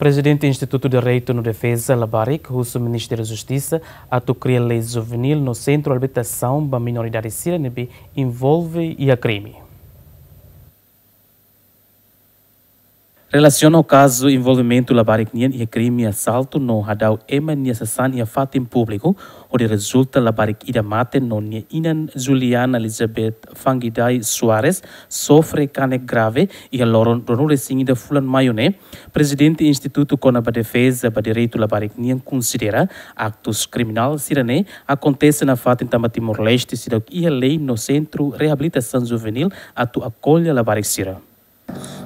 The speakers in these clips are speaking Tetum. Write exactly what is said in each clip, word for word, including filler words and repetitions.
Prezidente Institutu Direitu no Defeza Labarik husu Ministériu Justisa atu kria lei juvenil no sentru reabilitasaun ba minoridade sira ne'ebé envolve iha krime. Relasiona ho kazu envolvimentu labarik nian iha krime asaltu no hadau ema nia sasán iha fatin públiku, hodi rezulta labarik ida mate no nia inan Juliana Elizabeth Fangidai Soares sofre kanek grave iha loron ruanulu-resin-ida fulan Maiu ne'e, Prezidente Institutu kona-ba Defeza ba Direitu Labarik nian konsidera aktus kriminál sira-ne'e akontese nafatin tanba Timor-Leste seidauk iha lei no sentru reabilitasaun juvenil atu akolla labarik sira.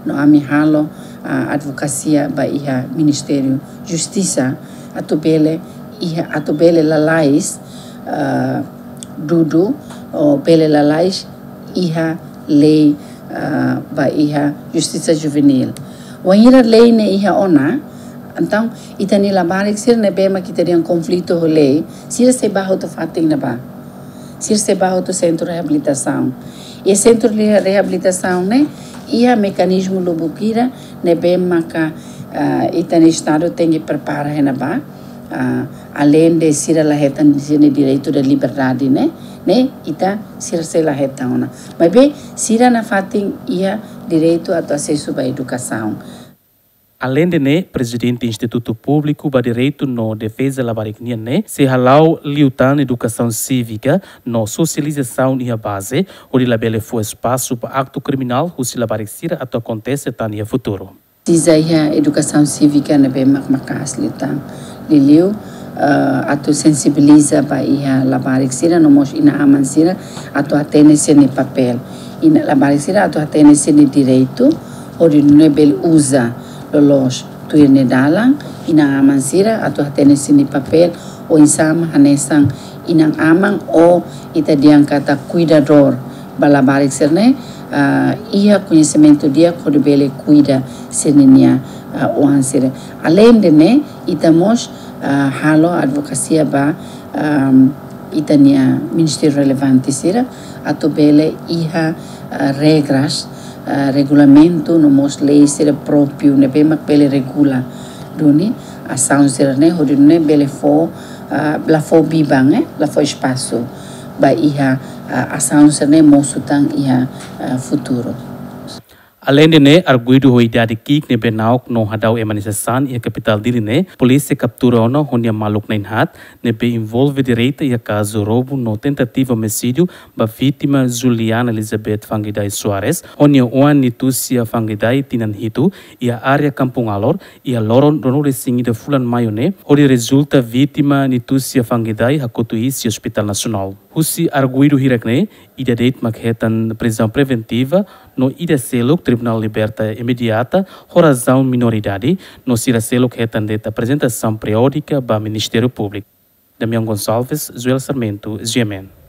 No ami halo, ah, advokasia ba iha Ministériu Justisa atu bele iha, atu bele lalais, ah, dudu, ou bele lalais iha lei, ah, ba iha justisa juvenil. Wainhira lei ne'e iha ona, entaun ita-nia labarik sira ne'ebé mak ita-nia konflitu ho lei, sira sei bá hotu fatin ne'ebá. Sira sei bá hotu sentru reabilitasaun. I sentru re-, reabilitasaun ne'e iha mekanizmu lubuk ida ne'ebé maka, ah, ita-nia Estadu tenke prepara iha ne'ebá, ah, aleinde sira la hetan sira-nia direitu de liberdade ne'e, ne'e ita sira sei la hetan ona. Maibé sira nafatin iha direitu atu asesu ba edukasaun. Aleinde ne'e, Prezidente Institutu Públiku ba Direitu no Defeza Labarik nian ne'e sei hala'o liután edukasaun sívika no sosializasaun iha baze, hodi labele fó espasu ba aktu kriminál husi labarik sira atu akontese tan iha futuru. Presiza iha edukasaun sívika ne'ebé mak maka'as liután. Liuliu, eh, atu sensibiliza ba iha labarik sira no mós inan-aman sira atu hatene sira-nia papél. Iha labarik sira atu hatene sira-nia direitu, hodi nune'e bele uza loloos tuir nia dalan, inan-aman sira atu hatene sira-nia papél, oinsá mak hanesan inan-aman ou ita dehan katak kuidadór ba labarik sira-ne'e, ah, iha koñesimentu di'ak hodi bele kuida sira-nia, ah, oan sira. Aleinde ne'e, ita mós, ah, halo advokasia ba, ahm, ita-nia ministériu relevante sira, atu bele iha, ah, regras, ah, regulamentu no mós lei sira própriu ne'ebé mak bele regula duni asaun sira-ne'e, hodi nune'e bele fó, ah, la fó biban, eh, la fó espasu ba iha, ah, asaun sira-ne'e mosu tan iha, ah, futuru. Aleinde ne'e, arguidu ho idade ki'ik ne'ebé na'ok no hadau ema nia sasán iha kapitál Dili ne'e, polísia kaptura ona ho nia maluk na'in-haat ne'ebé envolve direta iha kazu roubu no tentativa omisídiu ba vítima Juliana Elizabeth Fangidai Soares, ho nia oan Nitucia Fangidai tinan hitu, iha área Kampung Alor, iha loron ruanulu-resin-ida fulan Maiu ne'e, hodi rezulta vítima Nitucia Fangidai hakotu iis iha Hospitál Nasionál. Husi arguidu hirak-ne'e, ida de'it mak hetan prizaun preventiva, no ida seluk tribunál liberta imediata, ho razaun minoridade, no sira seluk hetan de'it aprezentasaun periódika ba Ministériu Públiku. Damião Gonçalves, Joel Sarmento, G M N.